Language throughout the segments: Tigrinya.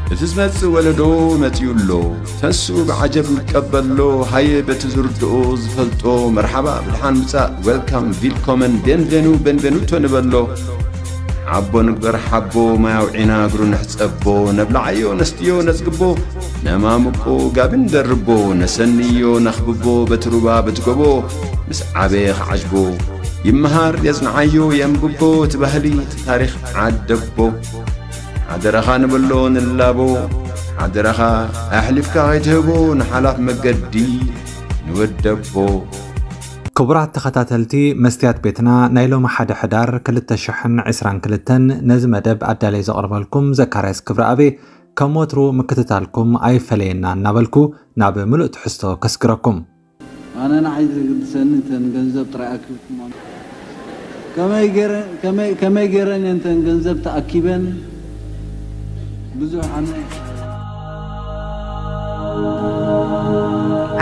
እቲ ዝመጽእ ወለዶ መጺኡ ኣሎ። ተስኡ ብዓጀብ ይቀበሎ። ሃየ በቲ ዝርድኦ ዝፈልጦ መርሓባ ብድሓን ምጻእ፣ ዌልካም፣ ቪልኮመን፣ ቤንቬኑ፣ ቤንቬኑቶ ንበሎ። ዓቦ ንግበር ሓቦ፣ ማይ ኣውዒና እግሩ ንሕጸቦ። ነብልዓዮ ነስትዮ ነጽግቦ፣ ነማምቆ ጋቢ ንደርቦ። ነሰንዮ ነኽብቦ በቲ ሩባ በቲ ጎቦ። ምስ ዓበየ ክዓጅቦ ይመሃር የጽንዓዮ የንብቦ። እቲ ባህሊ እቲ ታሪኽ ዓደቦ። ሓደራኻ ንበሎ ንላቦ። ሓደራኻ ኣሕሊፍካ ከይትህቦ ንሓላፍ መገዲ ንወደቦ። ክቡራት ተኸታተልቲ መስትያት ቤትና፣ ናይ ሎሚ ሓደ ሕዳር ክልተ ሽሕን ዕስራን ክልተን ነዚ መደብ ኣዳለይ ዘቕርበልኩም ዘካርያስ ክብረኣብ። ከም ወትሩ ምክትታልኩም ኣይፈለየና እናበልኩ ናብ ምሉእ ትሕዝቶ ከስግረኩም። ኣነ ንዓይ ዘገድሰኒ እተን ገንዘብ ጥራይ ኣኪብኩም። ከመይ ገይረ-፣ ከመይ፣ ከመይ ገይረን እየን እተን ገንዘብ ተኣኪበን? ብዙሕ ኣነ።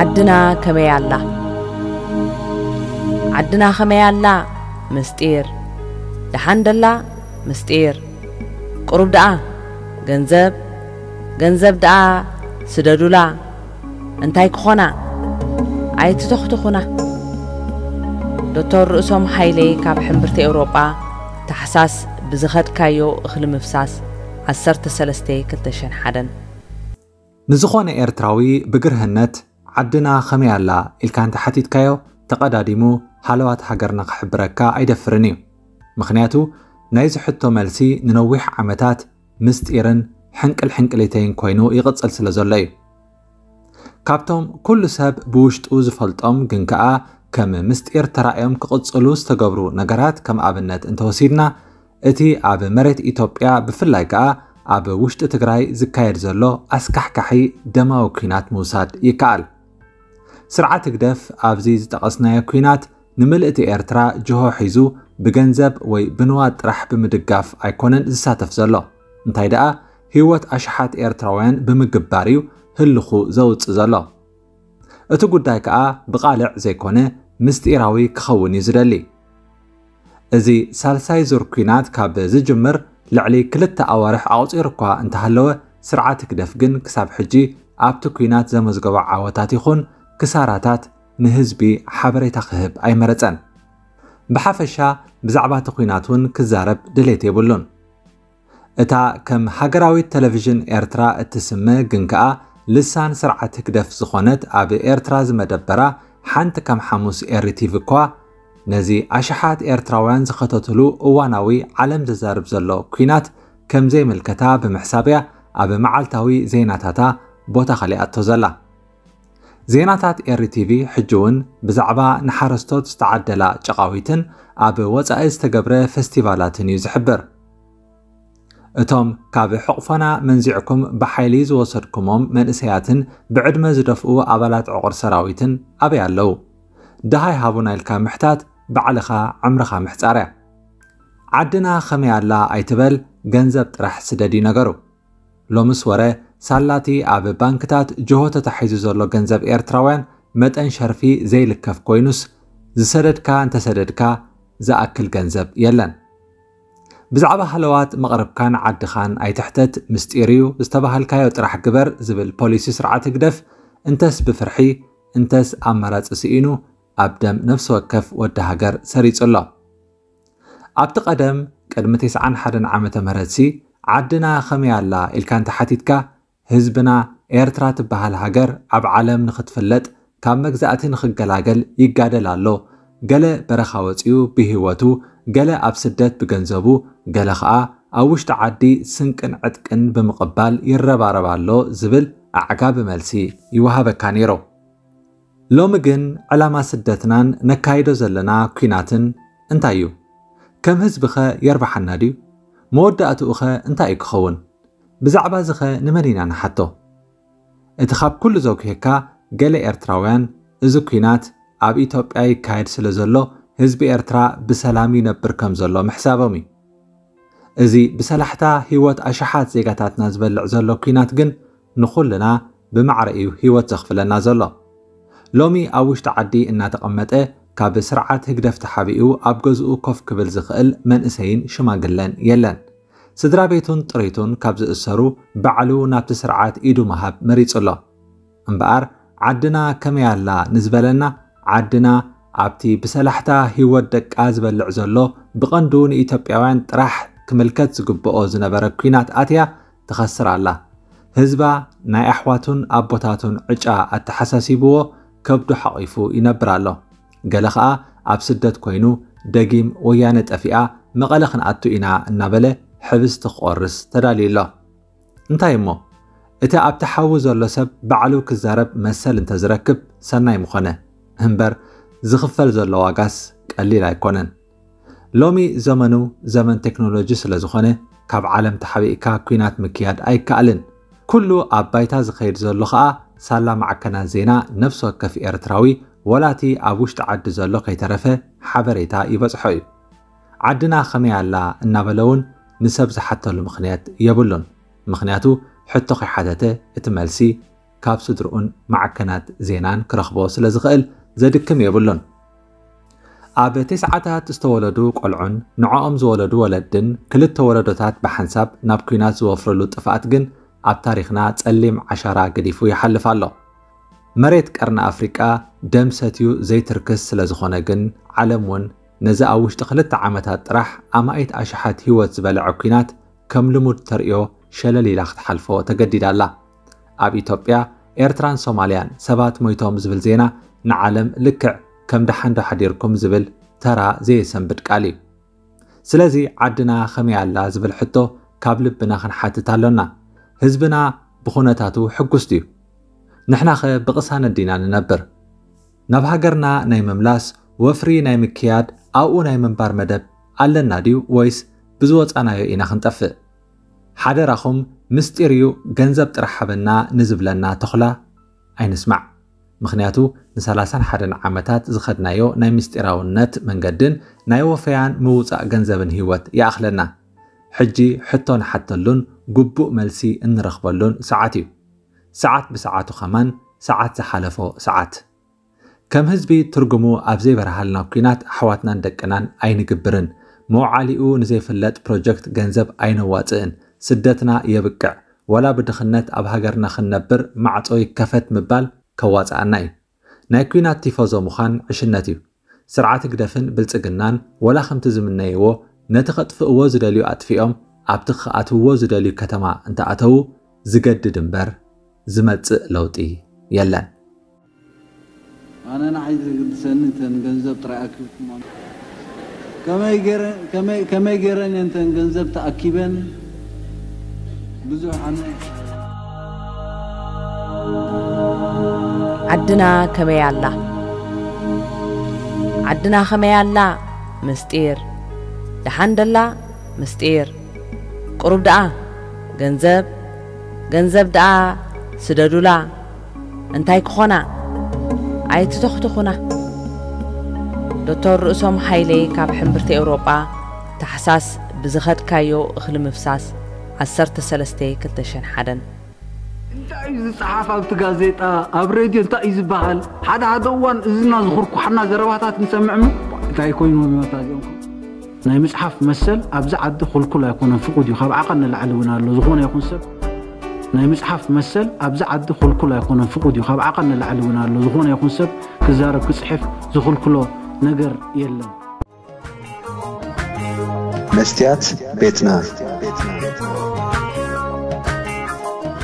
ዓድና ከመይ ኣላ? ዓድና ከመይ ኣላ? ምስጢር። ደሓን ደላ? ምስጢር። ቁሩብ ደኣ ገንዘብ፣ ገንዘብ ደኣ ስደዱላ። እንታይ ክኾና? ኣይትተኽትኹና። ዶክተር ርእሶም ሃይለ ካብ ሕምብርቲ ኤውሮጳ፣ ታሕሳስ ብዝኸድካዮ እኽሊ ምፍሳስ፣ ዓሰርተ ሰለስተ ክልተ ሽሕን ሓደን። ንዝኾነ ኤርትራዊ ብግርህነት ዓድና ከመይ ኣላ ኢልካ እንተሓቲትካዮ፣ ተቐዳዲሙ ሃለዋት ሃገርና ክሕብረካ ኣይደፍርን እዩ። ምኽንያቱ ናይዚ ሕቶ መልሲ ንነዊሕ ዓመታት ምስጢርን ሕንቅል ሕንቅሊተይን ኮይኑ ይቕጽል ስለ ዘሎ እዩ። ካብቶም ኩሉ ሰብ ብውሽጡ ዝፈልጦም ግን ከኣ ከም ምስጢር ተራእዮም ክቕጽሉ ዝተገብሩ ነገራት ከም ኣብነት እንተወሲድና፣ እቲ ኣብ መሬት ኢትዮጵያ ብፍላይ ከኣ ኣብ ውሽጢ ትግራይ ዝካየድ ዘሎ ኣስካሕካሒ ደማዊ ኲናት ምውሳድ ይከኣል። ስርዓት ህግደፍ ኣብዚ ዝጠቐስናዮ ኲናት ንምልእቲ ኤርትራ ጅሆ ሒዙ ብገንዘብ ወይ ብንዋት ጥራሕ ብምድጋፍ ኣይኮነን ዝሳተፍ ዘሎ። እንታይ ደኣ ህይወት ኣሽሓት ኤርትራውያን ብምግባር እዩ ህልኹ ዘውጽእ ዘሎ። እቲ ጉዳይ ከኣ ብቓልዕ ዘይኮነ ምስጢራዊ ክኸውን እዩ ዝደሊ። እዚ ሳልሳይ ዙር ኲናት ካብ ዝጅምር ልዕሊ ክልተ ኣዋርሕ ኣቑጺሩ እኳ እንተሃለወ፣ ስርዓት ህግደፍ ግን ክሳብ ሕጂ ኣብቲ ኲናት ዘመዝገቦ ዓወታት ይኹን ክሳራታት ንህዝቢ ሓበሬታ ክህብ ኣይመረጸን። ብሓፈሻ ብዛዕባ እቲ ኲናት እውን ክዛረብ ድሌት የብሉን። እታ ከም ሃገራዊት ቴሌቪዥን ኤርትራ እትስመ ግን ከኣ ልሳን ስርዓት ህግደፍ ዝኾነት ኣብ ኤርትራ ዝመደበራ ሓንቲ ከም ሓሙስ ኤሪ ቲቪ እኳ ነዚ ኣሽሓት ኤርትራውያን ዝኸተትሉ እዋናዊ ዓለም ዘዛርብ ዘሎ ኲናት ከም ዘይምልከታ ብምሕሳብ እያ ኣብ መዓልታዊ ዜናታታ ቦታ ከሊኣቶ ዘላ። ዜናታት ኤሪ ቲቪ ሕጂ እውን ብዛዕባ ንሓረስቶት ዝተዓደላ ጨቓዊትን ኣብ ወጻኢ ዝተገብረ ፈስቲቫላትን እዩ ዝሕብር። እቶም ካብ ሕቑፎና መንዚዕኩም ብሓይሊ ዝወሰድኩሞም መንእሰያትን ብዕድመ ዝደፍኡ ኣባላት ዕቑር ሰራዊትን ኣበይ ኣለዉ? ደሃይ ሃቡና ኢልካ ምሕታት ባዕልኻ ዕምርኻ ምሕጻር እያ። ዓድና ከመይ ኣላ ኣይትበል፣ ገንዘብ ጥራሕ ስደድ እዩ ነገሩ። ሎምስ ወረ ሳላቲ ኣብ ባንክታት ጅሆ ተታሒዙ ዘሎ ገንዘብ ኤርትራውያን መጠን ሸርፊ ዘይልከፍ ኮይኑስ፣ ዝሰደድካ እንተሰደድካ ዝኣክል ገንዘብ የለን። ብዛዕባ ሃለዋት መቕርብካን ዓድኻን ኣይትሕተት፣ ምስጢር እዩ፣ ዝተባሃልካዮ ጥራሕ ግበር ዝብል ፖሊሲ ስርዓት ህግደፍ፣ እንተስ ብፍርሒ፣ እንተስ ኣማራጺ ስኢኑ ኣብ ደም ነፍሲ ወከፍ ወዲ ሃገር ሰሪጹ ኣሎ። ኣብቲ ቀደም፣ ቅድሚ ተስዓን ሓደን ዓመተ ምህረትሲ፣ ዓድና ከመይ ኣላ ኢልካ እንተሓቲትካ፣ ህዝብና ኤርትራ ትበሃል ሃገር ኣብ ዓለም ንኽትፍለጥ፣ ካብ መግዛእቲ ንኽገላገል ይጋደል ኣሎ። ገለ በረኻ ወጺኡ ብህይወቱ፣ ገለ ኣብ ስደት ብገንዘቡ፣ ገለ ኸኣ ኣብ ውሽጢ ዓዲ ስንቅን ዕጥቅን ብምቕባል ይረባረብ ኣሎ ዝብል ኣዕጋቢ መልሲ ይወሃበካ ነይሩ። ሎሚ ግን ዕላማ ስደትናን ነካይዶ ዘለና ኲናትን እንታይ እዩ? ከም ህዝቢኸ የርብሓና ድዩ? መወዳእትኡኸ እንታይ እዩ ክኸውን? ብዛዕባዚኸ ንመን ኢና ንሓቶ? እቲ ካብ ኩሉ ዘጉሄካ፣ ገለ ኤርትራውያን እዚ ኲናት ኣብ ኢትዮጵያ ይካየድ ስለ ዘሎ ህዝቢ ኤርትራ ብሰላም ይነብር ከም ዘሎ ምሕሳቦም እዩ። እዚ ብሰላሕታ ህይወት ኣሽሓት ዜጋታትና ዝበልዕ ዘሎ ኲናት ግን ንኹልና ብማዕረ እዩ ህይወት ዘኽፍለና ዘሎ። ሎሚ ኣብ ውሽጢ ዓዲ እናተቐመጠ ካብ ስርዓት ህግደፍ ተሓቢኡ ኣብ ገዝኡ ኮፍ ክብል ዝኽእል መንእሰይን ሽማግለን የለን። ስድራ ቤቱን ጥሪቱን ካብ ዝእሰሩ ባዕሉ ናብቲ ስርዓት ኢዱ ምሃብ መሪጹ ኣሎ። እምበኣር ዓድና ከመይ ኣላ ንዝበለና፣ ዓድና ኣብቲ ብሰላሕታ ህይወት ደቃ ዝበልዕ ዘሎ፣ ብቐንዱ ንኢትዮጵያውያን ጥራሕ ክምልከት ዝግብኦ ዝነበረ ኲናት ኣትያ ትኸስር ኣላ። ህዝባ ናይ ኣሕዋቱን ኣቦታቱን ዕጫ ኣተሓሳሲብዎ ከብዱ ሓቒፉ ይነብር ኣሎ። ገለ ኸኣ ኣብ ስደት ኮይኑ ደጊም ወያነ ጠፊኣ መቐለ ክንኣቱ ኢና እናበለ ሕብስቲ ክቖርስ ተዳልዩ ኣሎ። እንታይ እሞ፣ እቲ ኣብቲ ሓዊ ዘሎ ሰብ ባዕሉ ክዛረብ መሰል እንተዝረክብ ሰናይ ምኾነ። እምበር ዝኽፈል ዘሎ ዋጋስ ቀሊል ኣይኮነን። ሎሚ ዘመኑ ዘመን ቴክኖሎጂ ስለ ዝኾነ፣ ካብ ዓለም ተሓቢእካ ኲናት ምክያድ ኣይከኣልን። ኩሉ ኣብ ባይታ ዝኸይድ ዘሎ ኸኣ ሳላ ማዕከናት ዜና ነፍሲ ወከፍ ኤርትራዊ፣ ወላቲ ኣብ ውሽጢ ዓዲ ዘሎ ከይተረፈ ሓበሬታ ይበጽሖ እዩ። ዓድና ኸመይ ኣላ እናበለ እውን ንሰብ ዝሓተሉ ምኽንያት የብሉን። ምኽንያቱ ሕቶ ከይሓተተ እቲ መልሲ ካብ ስድርኡን ማዕከናት ዜናን ክረኽቦ ስለ ዝኽእል ዘድክም የብሉን። ኣብ ተስዓታት ዝተወለዱ ቆልዑን ንዕኦም ዝወለዱ ወለድን ክልተ ወለዶታት ብሓንሳብ ናብ ኲናት ዝወፍርሉ ጥፍኣት ግን ኣብ ታሪኽና ጸሊም ዓሻራ ገዲፉ ይሓልፍ ኣሎ። መሬት ቀርኒ ኣፍሪቃ ደም ሰትዩ ዘይትርክስ ስለ ዝኾነ ግን ዓለም እውን ነዚ ኣብ ውሽጢ ክልተ ዓመታት ጥራሕ ኣማኢት ኣሽሓት ህይወት ዝበልዐ ኲናት ከም ልሙድ ተርእዮ ሸለል ኢላ ክትሓልፎ ተገዲዳ ኣላ። ኣብ ኢትዮጵያ፣ ኤርትራን ሶማልያን ሰባት ሞይቶም ዝብል ዜና ንዓለም ልክዕ ከም ደሓን ዶ ሓዲርኩም ዝብል ተራ ዘየሰንብድ ቃል እዩ። ስለዚ ዓድና ከመይ ኣላ ዝብል ሕቶ ካብ ልብና ክንሓትት ኣሎና። ህዝብና ብኹነታቱ ሕጉስ ድዩ? ንሕናኸ ብቕሳነት ዲና ንነብር? ናብ ሃገርና ናይ ምምላስ ወፍሪ ናይ ምክያድ ኣብኡ ናይ ምንባር መደብ ኣለና ድዩ ወይስ ብዝወጻናዮ ኢና ክንጠፍእ? ሓደራኹም ምስጢር እዩ ገንዘብ ጥራሕ ሃበና ንዝብለና ተኹላ ኣይንስማዕ። ምኽንያቱ ንሰላሳን ሓደን ዓመታት ዝኸድናዮ ናይ ምስጢራውነት መንገድን ናይ ወፈያን ምውጻእ ገንዘብን ህይወት ይኣኽለና። ሕጂ ሕቶ ንሓተሉን ግቡእ መልሲ እንረኽበሉን ሰዓት እዩ። ሰዓት ብሰዓቱ ኸማን ሰዓት ዝሓለፎ ሰዓት። ከም ህዝቢ ትርጉሙ ኣብ ዘይበርሃልና ኲናት ኣሕዋትናን ደቅናን ኣይንግብርን። መውዓሊኡ ንዘይፍለጥ ፕሮጀክት ገንዘብ ኣይነዋጽእን። ስደትና የብቅዕ። ወላ ብድኽነት ኣብ ሃገርና ክንነብር ማዕጾ ይከፈት ምባል ከዋጽኣና እዩ። ናይ ኲናት ቲፎዞ ምዃን ዕሽነት እዩ። ስርዓት ህግደፍን ብልጽግናን ወላ ከምቲ ዝምነይዎ ነቲ ከጥፍእዎ ዝደልዩ ኣጥፊኦም ኣብቲ ክኣትውዎ ዝደልዩ ከተማ እንተኣተዉ ዝገድድ እምበር ዝመጽእ ለውጢ የለን። ኣነ ንዓይ ዝግድሰኒ እተን ገንዘብ ጥራይ ኣኪብኩም። ከመይ ገይረ- ከመይ- ከመይ ገይረን እየን እተን ገንዘብ ተኣኪበን? ብዙሕ ኣነ ዓድና ከመይ ኣላ? ዓድና ከመይ ኣላ? ምስጢር። ደሓን ደላ? ምስጢር። ቁሩብ ደኣ ገንዘብ፣ ገንዘብ ደኣ ስደዱላ። እንታይ ክኾና? ኣይትተኽትኹና። ዶክተር ርእሶም ሃይለ ካብ ሕምብርቲ ኤውሮጳ፣ ታሕሳስ ብዝኸድካዮ እኽሊ ምፍሳስ፣ ዓሰርተ ሰለስተ ክልተ ሽሕን ሓደን። እንታይ እዩ ዝጸሓፍ ኣብቲ ጋዜጣ፣ ኣብ ሬድዮ እንታይ እዩ ዝበሃል? ሓደ ሓደ እዋን እዝና ዝኹርኩሓና ዘረባታት ንሰምዕ እሞ፣ እንታይ ኮይኖም እዮም ኣታ እዚኦም? ናይ ምጽሓፍ መሰል ኣብዚ ዓዲ ክልኩል ኣይኮነን፣ ፍቑድ እዩ። ካብ ዓቐን ንላዕሊ እውን ኣሎ። ዝኾነ ይኹን ሰብ ናይ ምጽሓፍ መሰል ኣብዚ ዓዲ ክልኩል ኣይኮነን፣ ፍቑድ እዩ። ካብ ዓቐን ንላዕሊ እውን ኣሎ። ዝኾነ ይኹን ሰብ ክዛረብ ክጽሕፍ ዝኽልክሎ ነገር የለን። መስትያት ቤትና።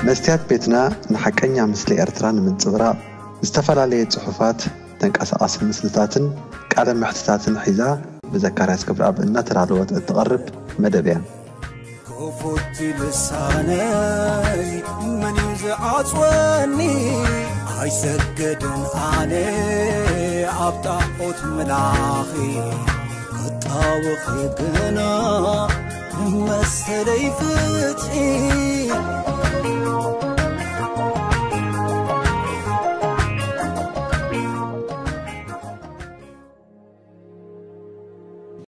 መስትያት ቤትና ንሓቀኛ ምስሊ ኤርትራ ንምንጽብራቕ ዝተፈላለየ ጽሑፋት፣ ተንቀሳቓሲ ምስልታትን ቃለ መሕትታትን ሒዛ ብዘካርያስ ገብረኣብ እናተዳለወት እትቐርብ መደብ እያ። ክፉት ልሳነይ መን እዩ ዝዓጽወኒ? ኣይሰግድን ኣነ ኣብ ጣዖት ምላኺ ክጣወኺ ግና መሰለይ ፍትሒ